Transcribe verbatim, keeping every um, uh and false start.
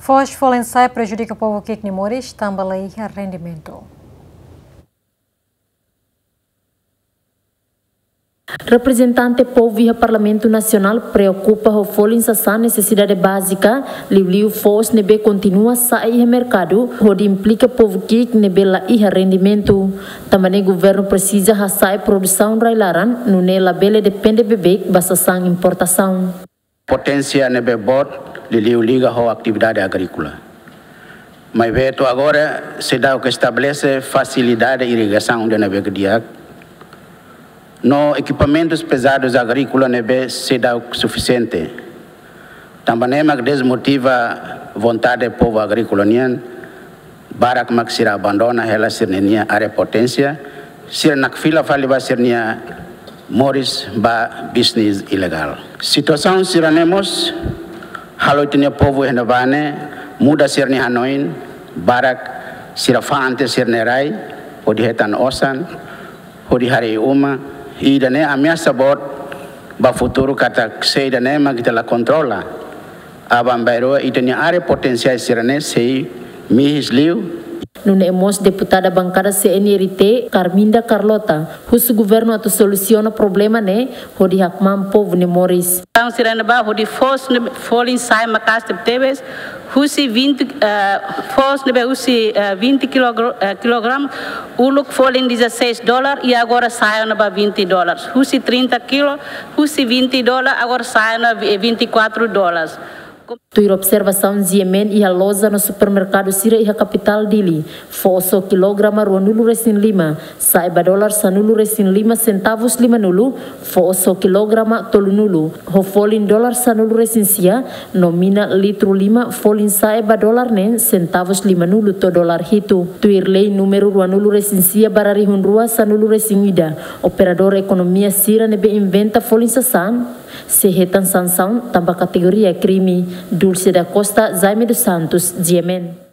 Foos folin sa'e prejudika povu ki'ik nia moris, tanba la iha rendimentu. Reprezentante povu iha Parlamentu Nasionál preokupa ho folin sasán nesesidade bázika, liuliu foos ne'ebé kontinua sa'e iha merkadu, hodi implika povu ki'ik ne'ebé la iha rendimentu. Tanba ne'e governu presiza hasa'e produsaun rai-laran, nune'e labele depende beibeik ba sasán importasaun. Poténsia ne'ebé boot, liuliu liga ho atividade agríkola. Maibé to'o agora seidauk estabelese fasilidade irrigasaun ida ne'ebé ke di'ak, no ekipamentus pezadus agríkola ne'ebé seidauk sufisiente. Tanba ne'e mak dezmotiva vontade povu agríkola nian, barak mak sira abandona hela sira-nia área poténsia, sira nakfila fali ba sira-nia moris ba bisnis ilegál. Situasaun sira-ne'e mós halo ita-nia povu iha ne'ebá ne'e muda sira-nia hanoin, barak sira fa'an tiha sira-nia rai hodi hetan osan, hodi harii uma, ida-ne'e ameasa boot ba futuru katak se ida-ne'e mak ita la kontrola, aban-bainrua ita-nia área poténsia sira-ne'e sei mihis liu. Nune'e mós deputada bankada C N R T, Carminda Carlota, husu governu atu solusiona problema ne'e, hodi hakmaan povu nia moris. Tan sira ne'ebá hodi foos ne'e folin sa'e maka'as tebetebes, husi vinte, eh, foos ne'ebé husi, eh, vinte kilogr-, eh, kilogramu, uluk folin dezasseis dólar, i agora sa'e ona ba vinte dólar. Husi trinta kilo, husi vinte dólar, agora sa'e ona vi-, vinte e quatro dólares. Tuir observasaun G M N iha loja no supermerkadu sira iha kapitál Dili, foos ho kilograma ruanulu-resin-lima sa'e ba dólar sanulu-resin-lima sentavus limanulu, foos ho kilograma tolunulu, ho folin dólar sanulu-resin-sia, no mina litru lima folin sa'e ba dólar neen sentavus limanulu to'o dólar hitu. Tuir lei númeru ruanulu-resin-sia barra rihun rua sanulu-resin-ida, operadór ekonomia sira ne'ebé inventa folin sasán sei hetan sansaun tanba kategoria krime. Dulce da Costa, Jaime dos Santos, G M N.